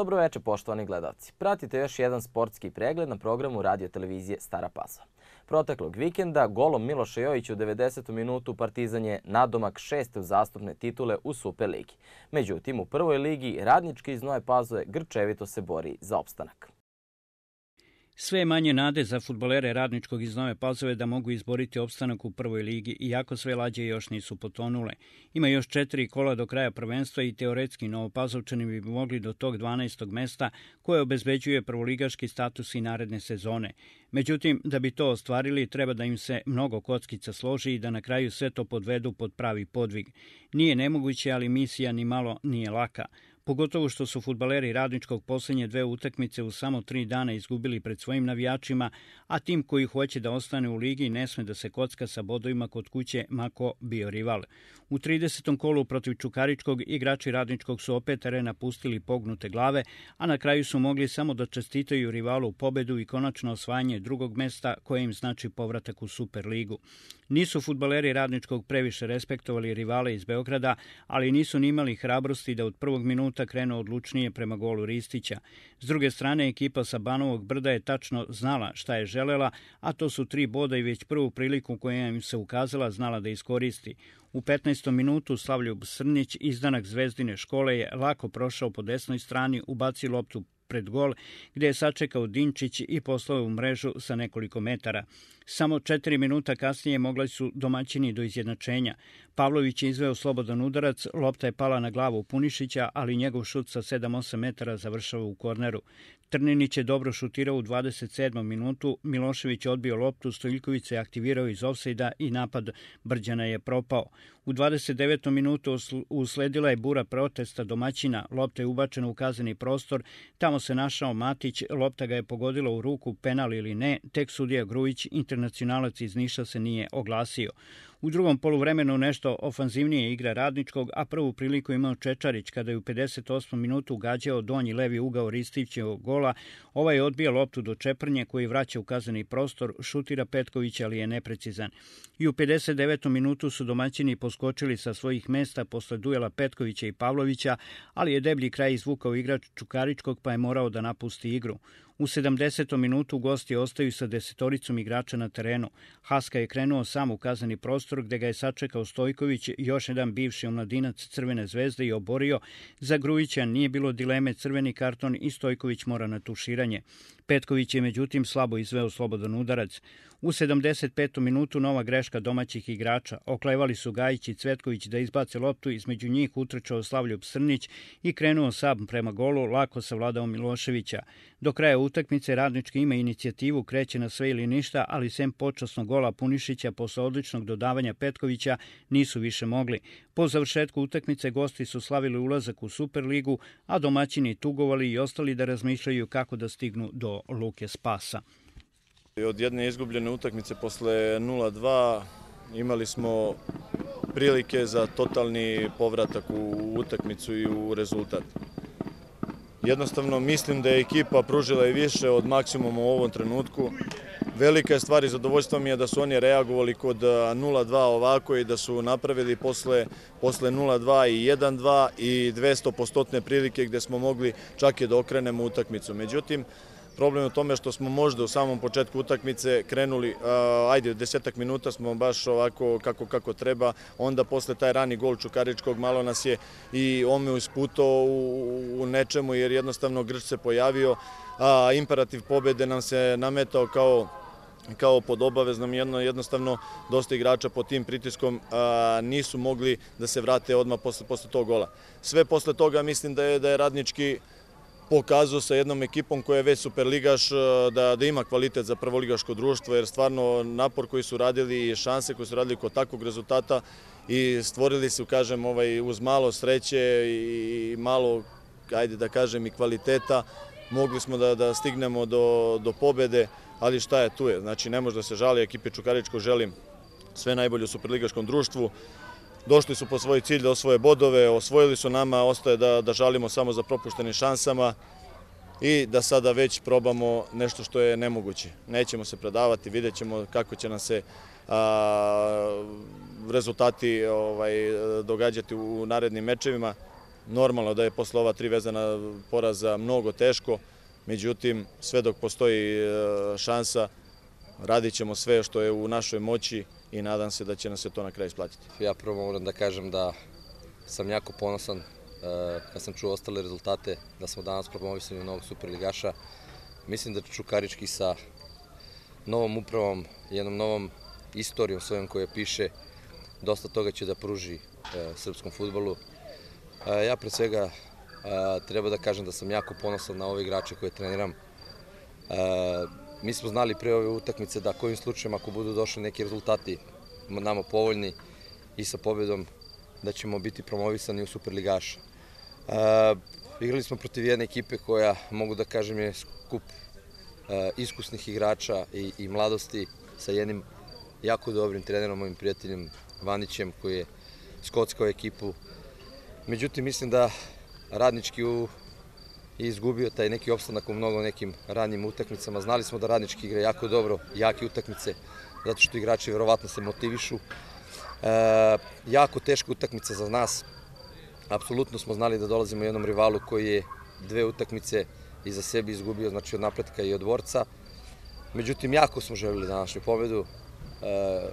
Dobroveče, poštovani gledalci. Pratite još jedan sportski pregled na programu radio televizije Stara Pazova. Proteklog vikenda golom Miloša Jojića u 90. minutu Partizan je nadomak 6. uzastopne titule u Superligi. Međutim, u prvoj ligi Radnički iz Nove Pazove grčevito se bori za opstanak. Sve je manje nade za fudbalere Radničkog iz Nove Pazove da mogu izboriti opstanak u prvoj ligi, iako sve lađe još nisu potonule. Ima još 4 kola do kraja prvenstva i teoretski Novopazovčani bi mogli do tog 12. mesta koje obezbeđuje prvoligaški status i naredne sezone. Međutim, da bi to ostvarili, treba da im se mnogo kockica složi i da na kraju sve to podvedu pod pravi podvig. Nije nemoguće, ali misija ni malo nije laka. Pogotovo što su fudbaleri Radničkog posljednje 2 utakmice u samo 3 dana izgubili pred svojim navijačima, a tim koji hoće da ostane u ligi ne sme da se kocka sa bodovima kod kuće mako bio rival. U 30. kolu protiv Čukaričkog igrači Radničkog su opet teren napustili pognute glave, a na kraju su mogli samo da čestitaju rivalu pobedu i konačno osvajanje drugog mesta koje im znači povratak u Superligu. Nisu fudbaleri Radničkog previše respektovali rivale iz Beograda, ali nisu ni imali hrabrosti da od prvog minuta krenu odlučnije prema golu Ristića. S druge strane, ekipa sa Banovog Brda je tačno znala šta je želela, a to su 3 boda i već prvu priliku koja im se ukazala znala da iskoristi. U 15. minutu Slavljub Srnić, izdanak Zvezdine škole, je lako prošao po desnoj strani, ubacio loptu pred gol, gde je sačekao Dinčić i poslao u mrežu sa nekoliko metara. Samo 4 minuta kasnije mogli su domaćini do izjednačenja. Pavlović je izveo slobodan udarac, lopta je pala na glavu Punišića, ali njegov šut sa 7-8 metara završava u korneru. Trninić je dobro šutirao u 27. minutu, Milošević je odbio loptu, Stojiljković se aktivirao iz ofsajda i napad Brđana je propao. U 29. minutu usledila je bura protesta domaćina, lopta je ubačena u kazneni prostor, tamo se našao Matić, lopta ga je pogodila u ruku, penal ili ne, tek sudija Grujić, internacionalac iz Niša, se nije oglasio. U drugom poluvremenu nešto ofanzivnije igra Radničkog, a prvu priliku imao Čečarić kada je u 58. minutu gađao donji levi ugao Ristićevog gola. Ovaj odbija loptu do Čeprnje koji vraća u kazneni prostor, šutira Petković, ali je neprecizan. I u 59. minutu su domaćini poskočili sa svojih mesta posle duela Petkovića i Pavlovića, ali je deblji kraj izvukao igrač Čukaričkog pa je morao da napusti igru. U 70. minutu gosti ostaju sa 10 igrača na terenu. Haska je krenuo sam u kazneni prostor gde ga je sačekao Stojković, još jedan bivši omladinac Crvene zvezde, i oborio. Za Grujića nije bilo dileme, crveni karton i Stojković mora na tuširanje. Petković je međutim slabo izveo slobodan udarac. U 75. minutu nova greška domaćih igrača. Oklevali su Gajić i Cvetković da izbace loptu, između njih utrčao Slavljub Srnić i krenuo sam prema golu, lako savladao Miloševića. Do kraja utakmice Radnički ima inicijativu, kreće na sve ili ništa, ali sem počasnog gola Punišića posle odličnog dodavanja Petkovića nisu više mogli. Po završetku utakmice gosti su slavili ulazak u Superligu, a domaćini tugovali i ostali da razmišljaju kako da stignu do luke spasa. Od jedne izgubljene utakmice posle 0-2 imali smo prilike za totalni povratak u utakmicu i u rezultat. Jednostavno mislim da je ekipa pružila i više od maksimuma u ovom trenutku. Velika je stvar i zadovoljstvo mi je da su oni reagovali kod 0-2 ovako i da su napravili posle 0-2 i 1-2 i 200% prilike gde smo mogli čak i da okrenemo utakmicu. Međutim, problem je u tome što smo možda u samom početku utakmice krenuli, 10 minuta smo baš ovako kako treba, onda posle taj rani gol Čukaričkog malo nas je i omeo isputao u nečemu jer jednostavno Grč se pojavio, a imperativ pobede nam se nametao kao pod obaveznom, jednostavno dosta igrača pod tim pritiskom nisu mogli da se vrate odmah posle tog gola. Sve posle toga mislim da je Radnički pokazao sa jednom ekipom koja je već superligaš da ima kvalitet za prvoligaško društvo, jer stvarno napor koji su radili i šanse koje su radili kod takvog rezultata i stvorili su, kažem, uz malo sreće i malo, ajde da kažem, i kvaliteta, mogli smo da stignemo do pobede, ali šta je tu je. Znači, ne može da se žali, ekipi Čukaričkog želim sve najbolje u superligaškom društvu. Došli su po svoj cilj da osvoje bodove, osvojili su nama, ostaje da žalimo samo za propuštenim šansama i da sada već probamo nešto što je nemoguće. Nećemo se predavati, vidjet ćemo kako će nam se rezultati događati u narednim mečevima. Normalno da je posle ova 3 vezana poraza mnogo teško, međutim, sve dok postoji šansa, radit ćemo sve što je u našoj moći i nadam se da će nam se to na kraju isplatiti. Ja prvo moram da kažem da sam jako ponosan kad sam čuo ostale rezultate, da smo danas promovisani novog superligaša. Mislim da Čukarički sa novom upravom, jednom novom istorijom svojom koja piše, dosta toga će da pruži srpskom fudbalu. Ja pre svega treba da kažem da sam jako ponosan na ove igrače koje treniram. Mi smo znali pre ove utakmice da kojim slučajem ako budu došli neki rezultati nama povoljni i sa pobedom da ćemo biti promovisani u superligaša. Igrali smo protiv jedne ekipe koja, mogu da kažem, je skup iskusnih igrača i mladosti sa jednim jako dobrim trenerom, mojim prijateljem Vanićem, koji je skockao ekipu. Međutim, mislim da Radnički je izgubio taj neki opstanak u mnogo nekim ranijim utakmicama. Znali smo da Radnički igra jako dobro, jake utakmice, zato što igrači verovatno se motivišu. Jako teška utakmica za nas. Apsolutno smo znali da dolazimo jednom rivalu koji je 2 utakmice iza sebi izgubio, znači od Napretka i od Dvorca. Međutim, jako smo želeli današnju pobedu,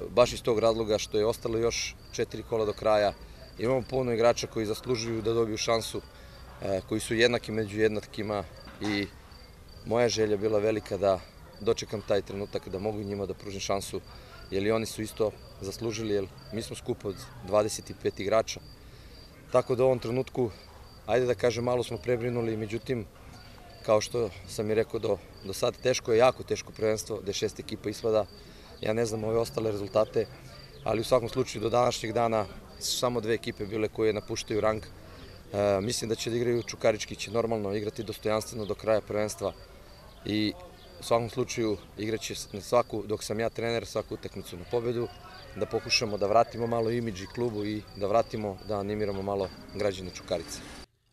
baš iz tog razloga što je ostalo još 4 kola do kraja. Imamo puno igrača koji zaslužuju da dobiju šansu, koji su jednaki među jednakima i moja želja bila velika da dočekam taj trenutak, da mogu njima da pružim šansu, jer i oni su isto zaslužili, jer mi smo skup od 25 igrača. Tako da u ovom trenutku, ajde da kažem, malo smo prebrinuli, međutim, kao što sam i rekao do sad, teško je, jako teško prvenstvo, gde 6 ekipa ispada. Ja ne znam ove ostale rezultate, ali u svakom slučaju do današnjeg dana su samo 2 ekipe bile koje napuštaju rang. Mislim da će da igraju, Čukarički će normalno igrati dostojanstveno do kraja prvenstva i u svakom slučaju igraće na svaku, dok sam ja trener, svaku utakmicu na pobedu, da pokušamo da vratimo malo imidž i klubu i da vratimo, da animiramo malo građane Čukarice.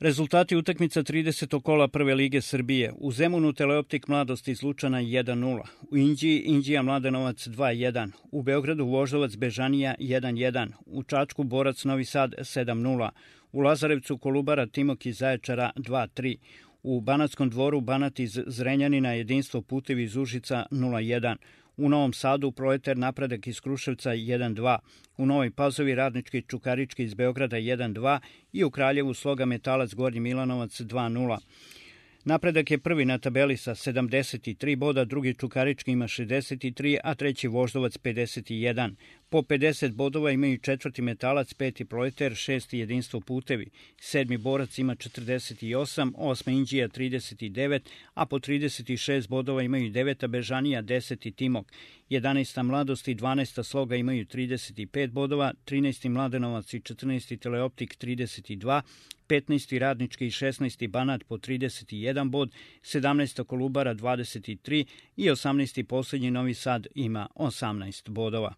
Rezultati utakmica 30. kola Prve lige Srbije. U Zemunu Teleoptik Mladost iz Lučana 1-0. U Inđiji Inđija Mladenovac 2-1. U Beogradu Voždovac Bežanija 1-1. U Čačku Borac Novi Sad 7-0. U Lazarevcu Kolubara Timok iz Zaječara 2-3. U Banatskom Dvoru Banat iz Zrenjanina Jedinstvo Putevi iz Užica 0-1. U Novom Sadu Proletar Napredak iz Kruševca 1-2. U Novoj Pazovi Radnički Čukarički iz Beograda 1-2 i u Kraljevu Sloga Metalac Gornji Milanovac 2-0. Napredak je prvi na tabeli sa 73 boda, drugi Čukarički ima 63, a treći Voždovac 51. Po 50 bodova imaju četvrti Metalac, peti Proletar, šesti Jedinstvo Putevi, sedmi Borac ima 48, osma Inđija 39, a po 36 bodova imaju deveta Bežanija, 10. Timok, 11. Mladost i 12. Sloga imaju 35 bodova, 13. Mladenovac i 14. Teleoptik 32, 15. Radnički i 16. Banat po 31 bod, 17. Kolubara 23 i 18. poslednji Novi Sad ima 18 bodova.